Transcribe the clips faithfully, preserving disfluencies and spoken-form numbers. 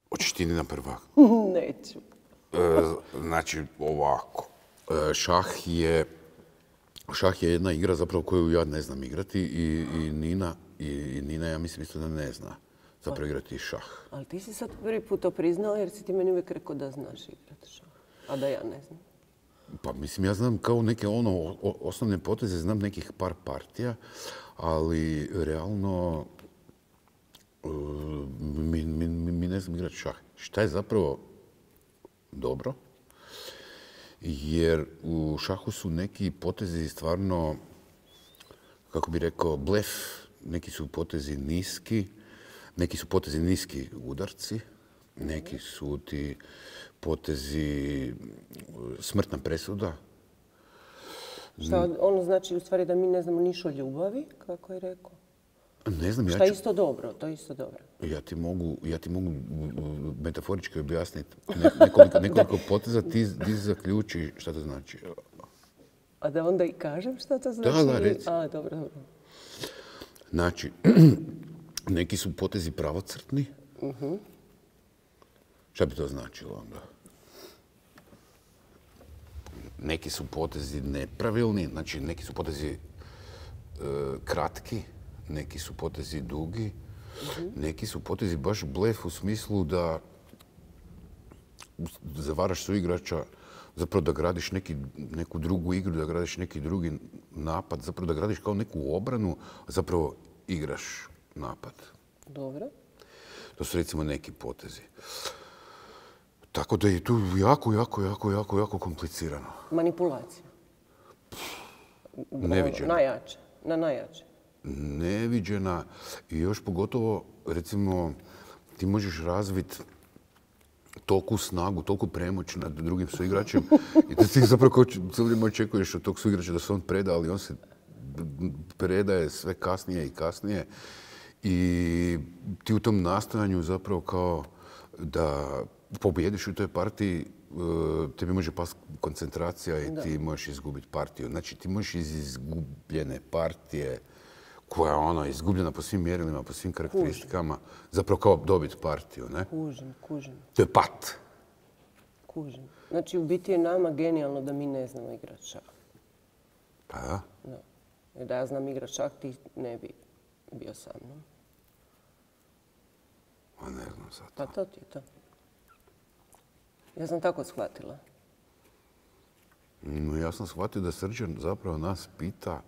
Hoćeš ti na prvak? Neću. Znači, ovako. Šah je, šah je jedna igra zapravo koju ja ne znam igrati i, i, Nina, i, i Nina, ja mislim isto da ne zna zapravo igrati šah. Ali ti si sad prvi put to priznala jer si ti meni uvijek rekao da znaš igrati šah, a da ja ne znam. Pa mislim, ja znam kao neke ono o, osnovne poteze, znam nekih par partija, ali realno uh, mi, mi, mi ne znam igrati šah. Šta je zapravo dobro? Jer u šahu su neki potezi stvarno, kako bi rekao, blef. Neki su potezi niski, neki su potezi niski udarci, neki su ti potezi smrtna presuda. Šta ono znači u stvari da mi ne znamo niš o ljubavi, kako je rekao? Ne znam, ja Šta je ću... isto dobro, to je isto dobro. Ja ti mogu, ja ti mogu metaforički objasniti nekoliko, nekoliko poteza, ti, ti zaključi šta to znači. A da onda i kažem šta to znači? Da, da, reci. A, dobro, dobro. Znači, neki su potezi pravocrtni. Uh-huh. Šta bi to značilo onda? Neki su potezi nepravilni, znači neki su potezi e, kratki, neki su potezi dugi, uh-huh. Neki su potezi baš blef u smislu da zavaraš suigrača, zapravo da gradiš neki, neku drugu igru, da gradiš neki drugi napad, zapravo da gradiš kao neku obranu, a zapravo igraš napad. Dobro. To su recimo neki potezi. Tako da je tu jako, jako, jako, jako, jako komplicirano. Manipulacija. Neviđena. Najjače. Na najjače. Neviđena i još pogotovo, recimo, ti možeš razviti toliku snagu, toliku premoć nad drugim suigračem i da ti zapravo kao cijelo vrijeme očekuješ od tog suigrača da se on preda, ali on se predaje sve kasnije i kasnije i ti u tom nastojanju zapravo kao da pobjediš u toj partiji, tebi može past koncentracija i da. Ti možeš izgubiti partiju. Znači ti možeš iz izgubljene partije koja je ono izgubljena po svim mjerilima, po svim karakteristikama, kužim. Zapravo kao dobiti partiju, ne? Kužim, kužim. To je pat. Kužim. Znači u biti je nama genijalno da mi ne znamo igrati šah. Pa da. Da. Jer da ja znam igrati šah, ti ne bi bio sa mnom. Ma ne znam sad. Pa to ti je to. Ja sam tako shvatila. No, ja sam shvatio da Srđan zapravo nas pita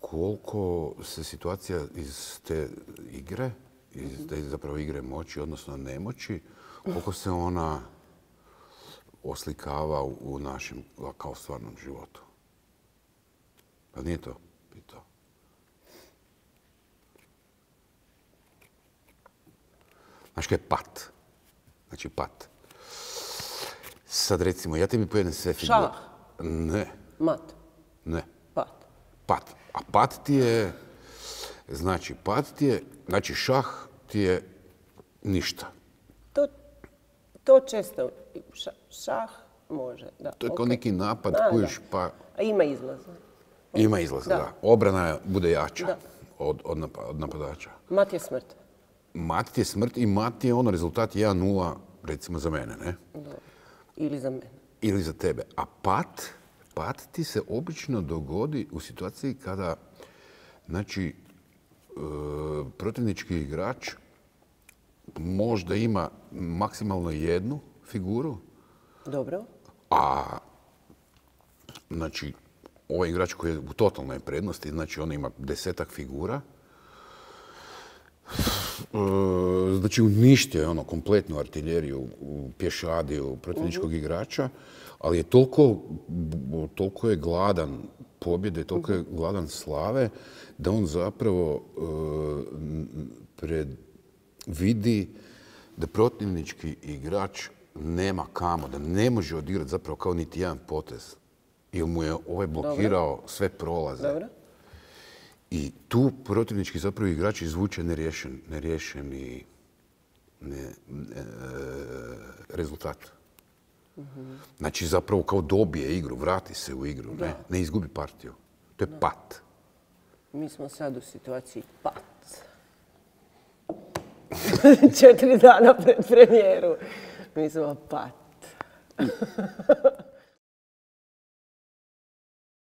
koliko se situacija iz te igre, iz te zapravo igre moći, odnosno nemoći, koliko se ona oslikava u našem kao stvarnom životu. Pa nije to pitao. Znaš kaj je pat? Znači pat. Sad recimo, ja tebi pojedem sve figure. Šah? Ne. Mat? Ne. Pat? Pat. A pat ti je, znači pat ti je, znači šah ti je ništa. To, to često, šah, šah može, da. To je okay. kao neki napad da, kojiš da. pa... A ima izlaza. Ima izlaza, da. da. Obrana bude jača da. od, od, nap od napadača. Mat je smrt. Mat ti je smrt i mat je ono rezultat jedan nula, recimo za mene, ne? Da. Ili za mene. Ili za tebe. A pat, pat ti se obično dogodi u situaciji kada, znači, e, protivnički igrač možda ima maksimalno jednu figuru. Dobro. A, znači, ovaj igrač koji je u totalnoj prednosti, znači on ima desetak figura, znači uništio je ono kompletnu artiljeriju, pješadiju protivničkog uh-huh. igrača, ali je toliko, toliko je gladan pobjede, toliko je gladan slave, da on zapravo uh, predvidi da protivnički igrač nema kamo, da ne može odigrati zapravo kao niti jedan potez. Jer mu je ovaj blokirao Dobro. sve prolaze. Dobro. I tu protivnički zapravo igrač izvuče neriješen, neriješeni ne, ne, rezultat. Mm-hmm. Znači zapravo kao dobije igru, vrati se u igru, ne, ne izgubi partiju. To je da. pat. Mi smo sad u situaciji pat. Četiri dana pred premijeru. Mi smo pat.